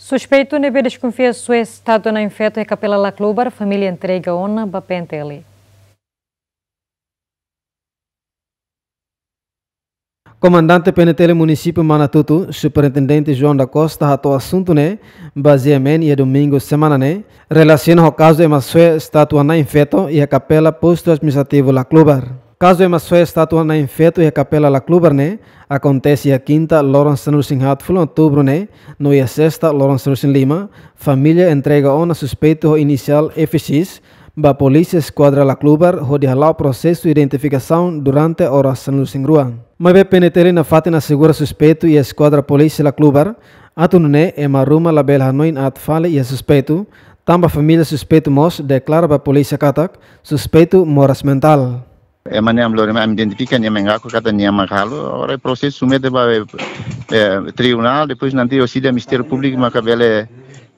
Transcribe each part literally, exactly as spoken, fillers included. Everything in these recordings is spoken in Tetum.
Suspeitu ne'ebé deskonfia soe estátua Na'in Feto iha Kapela Laclubar, família entrega ona ba P N T L. Komandante P N T L Munisípiu Manatuto, Superintendente João da Costa, hato'o asuntu ne'e ba G M N iha domingu semana ne'e, relasiona ho kazu ema soe estátua Na'in Feto iha Kapela Postu Administrativu Laclubar. Kazu ema soe estátua Na'in Feto iha Kapela Laclubar ne'e akontese iha kinta loron sanulu-resin-haat fulan outubru ne'e, no iha sesta loron sanulu-resin-lima, família entrega ona suspeitu ho inisiál F X ba Polísia Eskuadra Laclubar hodi hala'o prosesu identifikasaun durante oras sanulu-resin-rua. Maibé P N T L nafatin asegura suspeitu iha Eskuadra Polísia Laclubar, atu nune'e ema ruma labele hanoin aat fali iha suspeitu, tanba família suspeitu mós deklara ba polísia katak suspeitu moras mentál. Ema ne'e ami lori, ami identifika nia, ema engaku katak nia mak halo, agora prosesu submete ba, eh, tribunál, depois nanti orsida Ministériu Públiku maka bele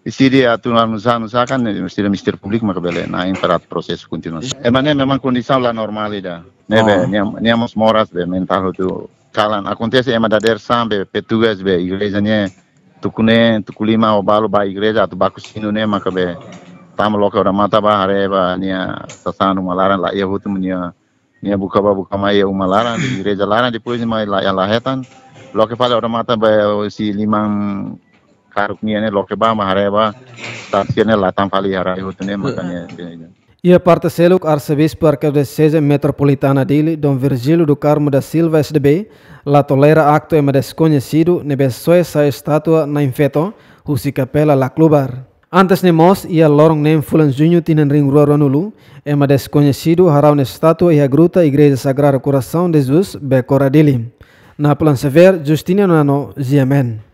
deside atu anu sa, anu sa kan, orsida Ministériu Públiku maka bele na'in para prosesu kontinua. Ema ne'e memang kondisaun la normál ida. Ne'ebé, oh, nia, nia mós moras be mentál hotu kalan. Akontese ema dadeer-saan be petugas be igreja ne'e tuku neen, tuku lima ou balu ba igreja atu baku sinu ne'e maka be tama loke odamatan ba haree ba nia sasán uma laran la iha hotu, nia, nia buka ba buka mai iha uma laran, igreja laran, depois mai la iha la hetan. Loke fali odamatan ba husi liman karuk nian ne'e loke ba, mak haree ba, saksi ne'e la tan fali iha rai hotu ne'e, maka nia, nia. Iha parte seluk, Arsebispu Arkidioseze Metropolitana Dili, Dom Virgílio do Carmo da Silva, S D B, la tolera aktu ema deskoñesidu ne'ebé soe sai estátua Na'in Feto husi Kapela Laclubar. Antes ne'e mós, iha loron neen fulan Juñu tinan rihun rua ruanulu, ema deskoñesidu haraun estátua iha gruta Igreja Sagrado Coração de Jesus, Bekora Dili. Napoleão Xavier, Justiniano Nano, G M N.